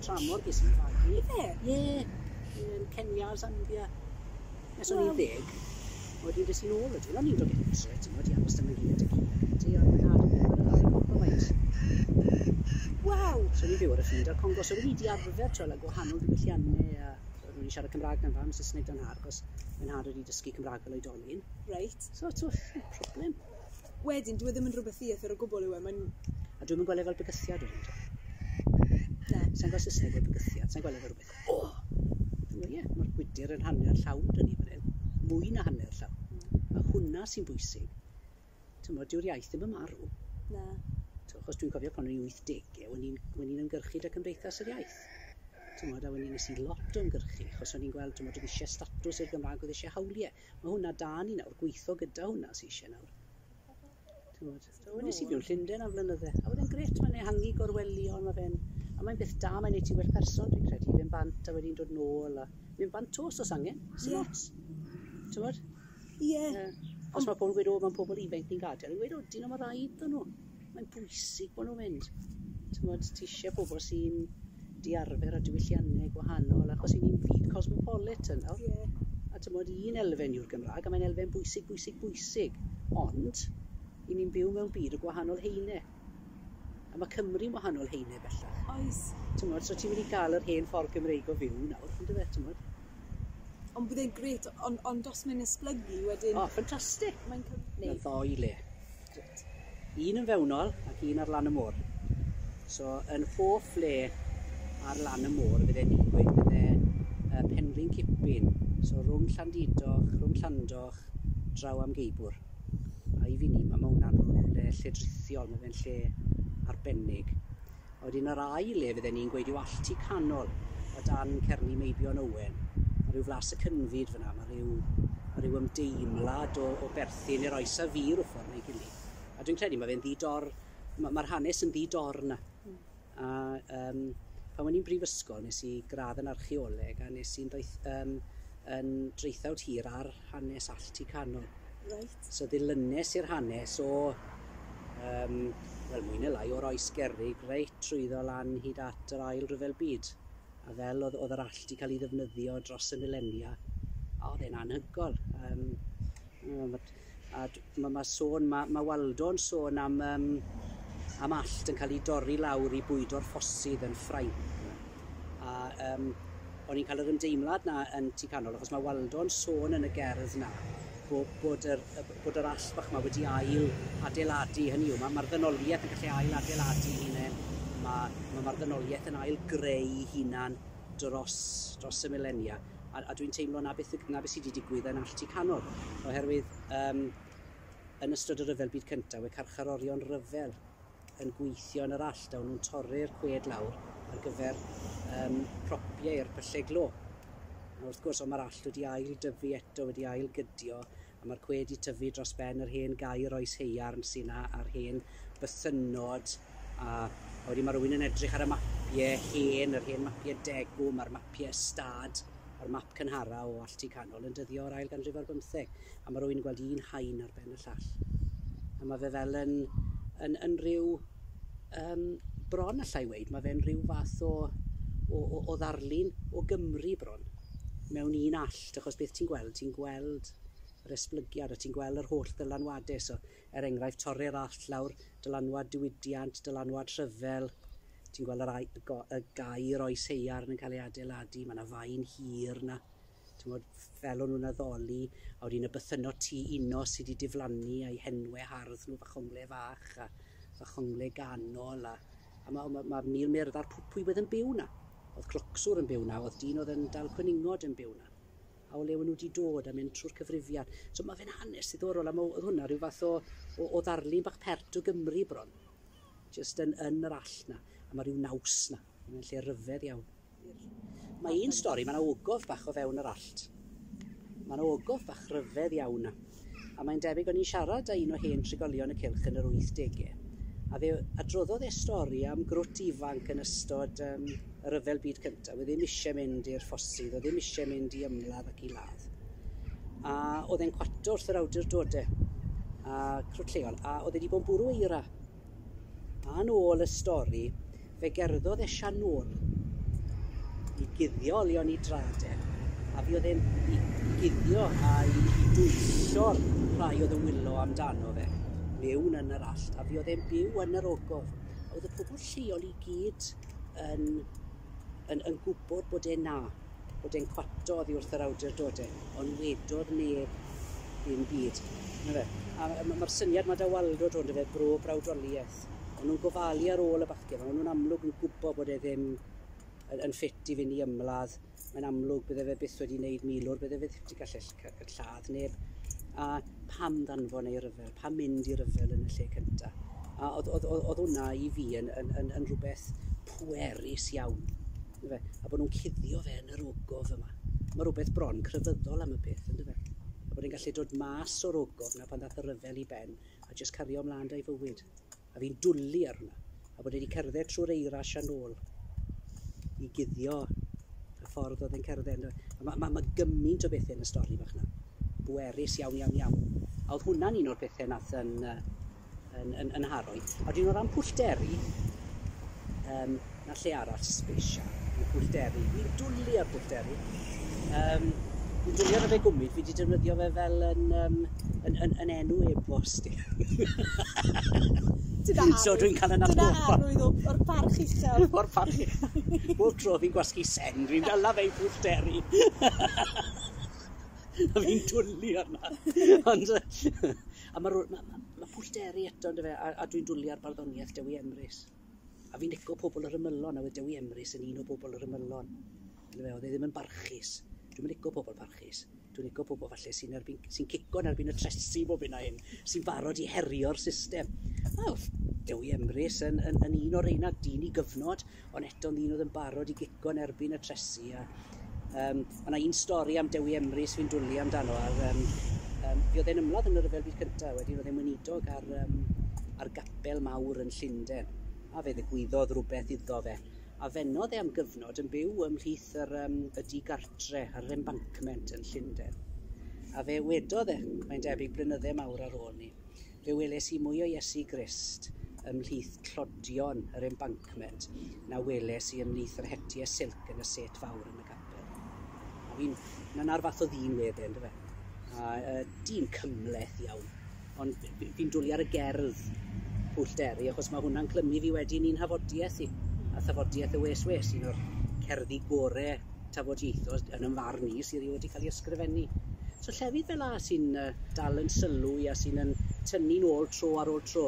Tramor ges i'n fagu. Ife? Ie, yn Kenya, Zambia. Nes o'n i'n 10. Wedyn des i'n ôl wedyn, o'n i'n dod getre, ti'n gwybod, i aros 'da mam-gu a tad-cu ac ati, ond mae nhad yn byw yn y Coppermines. Waw! So o'n i'n byw ar y ffin 'da'r Congo, so o'n i 'di arfer, t'wel, â gwahanol ddiwylliannau a o'n i'n siarad Cymraeg 'da'n fam, Saesneg 'da'n nhad, achos mae nhad wedi dysgu Cymraeg fel oedolyn. So, t'wel, problem. Wedyn, dyw e ddim yn rhywbeth ddieithr o gwbl yw e, mae'n... A dwi'm yn gweld e fel bygythiad wedyn, t'wel. Na. Sa i'n gweld Saesneg fel bygythiad, sa i'n gweld e fel rhywbeth, o! Dwi'n meddwl, ie, mae'r gwydr yn hanner llawn 'da ni fan hyn, mwy na hanner llawn. A hwnna sy'n bwysig. T'mod, dyw'r iaith ddim yn marw. Na. T'mo, achos dwi'n cofio pan o'n i'n 80au, o'n i'n ymgyrchu 'da Cymdeithas yr Iaith. T'mod, a wedyn nes i lot o ymgyrchu, achos o'n i'n gweld, t'mod, oedd eisiau statws i'r Gymraeg, oedd eisiau hawliau. Mae hwnna da ni nawr, gweithio gyda hwnna sy'n eisiau nawr. T'mod, so nes i fyw yn Llundain am flynydde, a oedd e'n grêt, mae'n ehangu gorwelion, mae fe'n, a mae'n beth da, mae'n neud ti well person, dwi'n credu, fynd bant a wedyn dod nôl, a mynd bant 'to os oes angen, sy'n ots. T'mod? Ie. Os mae pobl yn gweud, o, mae'n pobl ifanc ni'n gadael, yn gweud, o, dyn nhw, mae rhaid iddyn nhw. Mae'n bwysig bod nhw'n mynd. T'mod, ti eisiau pobl sy'n diarfer a diwylliannau gwahanol, achos i ni'n fyd cosmopolitan nawr. A t'mod, un elfen yw'r Gymraeg, a mae'n elfen bwysig, bwysig, bwysig. Ond, i ni'n byw mewn byd o gwahanol haenau. A mae Cymru'n wahanol haenau bellach. Oes. T'mod, so ti'n mynd i gael yr hen ffordd Gymreig o fyw nawr, on'd yfe, t'mod? Ond bydd e'n grêt, ond os mae'n esblygu wedyn... O, ffantastig! Mae'n Mae ddou le. Un yn fewnol ac un ar lan y môr. So, yn hoff le ar lan y môr, fydde ni'n gweud bydde Penrhyn Cipin. So, rhwng Llandudoch, rhwng Llandoch, draw am Geibwr. A i fi ni, mae hwnna'n rhywle lledrithiol, mae fe'n lle arbennig. A wedyn yr ail le fydden ni'n gweud yw Allty Canol, o dan Cerni Meibion Owen. Mae rhyw flas y cynfyd fyna, mae rhyw ymdeimlad o berthyn i'r oes a fu rhyw ffordd neu gilydd. A dwi'n credu mae fe'n ddi-dor, mae'r hanes yn ddi-dor 'na. A pan o'n i'n brifysgol, nes i gradd yn archeoleg a nes i'n yn draethawd hir ar hanes Allty Canol. So ddilynes i'r hanes o, wel, mwy neu lai, o'r oes gerrig reit trwyddo lan hyd at yr Ail Ryfel Byd. A fel oedd yr allt 'di cael ei ddefnyddio dros y milenia, a oedd e'n anhygoel. A ma sôn, ma Waldo'n sôn am allt yn cael ei dorri lawr i bwydo'r ffosydd yn Ffrainc. A o'n i'n cael yr ymdeimlad 'na yn Tŷ Canol, achos mae Waldo'n sôn yn y gerdd 'na bod yr allt bach 'ma wedi ail adeiladu, hynny yw, mae'r ddynoliaeth yn gallu ail adeiladu hunain, mae'r ddynoliaeth yn ail greu hunan dros y milenia. A dwi'n teimlo na beth sydd wedi digwydd yn Allt Tŷ Canol, oherwydd yn ystod y Rhyfel Byd Cyntaf, we carcharorion rhyfel yn gweithio yn yr allt, a o'n nhw'n torri'r coed lawr ar gyfer propiau i'r pyllau glo. A wrth gwrs, ond mae'r allt wedi ail dyfu eto, wedi ail gydio, a mae'r coed wedi tyfu dros ben yr hen gaer oes haearn sy'n na, a'r hen bythynnod, a wedyn mae rhywun yn edrych ar y mapiau hen, yr hen mapiau degwm, a'r mapiau ystâd, a'r map cynhara o Allt Tŷ Canol yn dyddio o'r ail ganrif ar bymtheg. A mae rhywun yn gweld un haen ar ben y llall. A mae fe fel yn rhyw, bron allai weud, mae fe'n rhyw fath o ddarlun o Gymru bron, mewn un allt, achos beth ti'n gweld yr esblygiad a ti'n gweld yr holl ddylanwadau. So, er enghraifft, torri'r allt lawr, dylanwad diwydiant, dylanwad rhyfel, ti'n gweld y gaer oes haearn yn cael ei adeiladu, mae yna faen hir 'na, ti'n gwbod, fel o'n nhw'n addoli, a wedyn y bythynnod Tŷ Uno sydd wedi diflannu a'i henwau hardd nhw, Fachongle Fach a Fachongle Ganol, a ma mil myrdd ar pwy wedd yn byw 'na. Oedd clocswr yn byw 'na, oedd dyn oedd yn dal cwningod yn byw 'na. A o le o'n nhw wedi dod a mynd trwy'r cyfrifiad. So mae fe'n hanes diddorol, a oedd hwnna rhyw fath o ddarlun bach pert o Gymru bron. Just yn yr allt 'na. A mae rhyw naws 'na. Mae'n lle rhyfedd iawn. Mae un stori, mae yna ogof bach o fewn yr allt. Mae yna ogof bach rhyfedd iawn 'na. A mae'n debyg o'n i'n siarad â un o hen trigolion y cylch yn yr 80au. A fe adroddodd e stori am grwt ifanc yn ystod y Rhyfel Byd Cyntaf. Oedd ddim eisiau mynd i'r ffosydd, oedd ddim eisiau mynd i ymladd ac i ladd. A oedd e'n cwato wrth yr awdurdodau a crwt lleol, a oedd e wedi bod yn bwrw eira. A yn ôl y stori, fe gerddodd e Sianôl. I guddio olion i drad e, a fi oedd e'n i guddio a i dwyllo'r rhai oedd yn wylo amdano fe mewn yn yr allt, a fi oedd e'n byw yn yr ogof. A oedd y pobl lleol i gyd yn gwybod bod e na, bod e'n cwato oddi wrth yr awdurdodau, ond wedodd neb ddim byd. Na fe? A mae'r syniad mae da Waldo dod fe, bro brawdoliaeth. O'n nhw'n gofalu ar ôl y bachgen, o'n nhw'n amlwg yn gwybod bod e ddim yn ffit i fynd i ymladd. Mae'n amlwg bydde fe byth wedi wneud milwr, bydde fe wedi gallu lladd neb. A pam ddanfon ei ryfel, pam mynd i ryfel yn y lle cyntaf? A oedd hwnna i fi yn rhywbeth pwerus iawn. Fe? A bod nhw'n cuddio fe yn yr ogof yma. Mae rhywbeth bron crefyddol am y peth, ynddo fe? A bod e'n gallu dod mas o'r ogof na pan ddath y ryfel i ben a jyst cario ymlaen da'i fywyd. A fi'n dwlu ar hwnna. A bod e wedi cerdded trwy'r eira a nôl i guddio y ffordd oedd e'n cerdded. Mae gymaint o bethau yn y stori bach yna. Bwerus iawn, iawn, iawn. A oedd hwnna'n un o'r pethau nath yn haroi. A wedyn o ran Pwllderi, na lle arall special, yw Pwllderi. Fi'n dwlu ar Pwllderi. Fi'n dwlu ar fe gwmyd, fi wedi defnyddio fe fel yn enw e-bost i. So dwi'n cael yn atgoffa. Dyna arwydd o'r parch uchel. O'r parch uchel. Bob tro fi'n gwasgu send, fi'n dala fe i Pwllderi. A fi'n dwlu arna. Ond, a mae Pwllderi eto, yndyfe, a dwi'n dwlu ar barddoniaeth Dewi Emrys. A fi'n lico pobl yr ymylon, a oedd Dewi Emrys yn un o bobl yr ymylon. Yndyfe, oedd e ddim yn barchus. Dwi'n lico pobl parchus. Dwi'n lico pobl falle sy'n cico yn erbyn y tresi bob hyn a hyn, sy'n barod i herio'r system. Wel, Dewi Emrys yn un o'r reina, dyn i gyfnod, ond eto'n ddyn oedd yn barod i gico yn erbyn y tresi. Mae yna un stori am Dewi Emrys fi'n dwlu amdano. Fi oedd e'n ymladd yn y Rhyfel Byd Cyntaf, wedyn oedd e'n weinidog ar gapel mawr yn Llundain. A fe ddigwyddodd rhywbeth iddo fe. A fennodd e am gyfnod yn byw ymhlith y digartre ar yr embankment yn Llundain. A fe wedodd e, mae'n debyg blynydde mawr ar ôl ni, fe weles i mwy o Iesu Grist ymhlith tlodion yr embankment na weles i ymhlith yr hetiau silc yn y set fawr yn y capel. A fi'n, na'r fath o ddyn wedd e, yndyfe? A dyn cymhleth iawn, ond fi'n dwlu ar y gerdd Pwllderi, achos mae hwnna'n clymu fi wedyn i'n hafodiaeth i. A thafodiaeth y Wes Wes, un o'r cerddi gore tafodieithol yn ymfarn i sydd wedi cael ei ysgrifennu. So llefydd fel 'a sy'n dal yn sylw i a sy'n yn tynnu'n ôl tro ar ôl tro.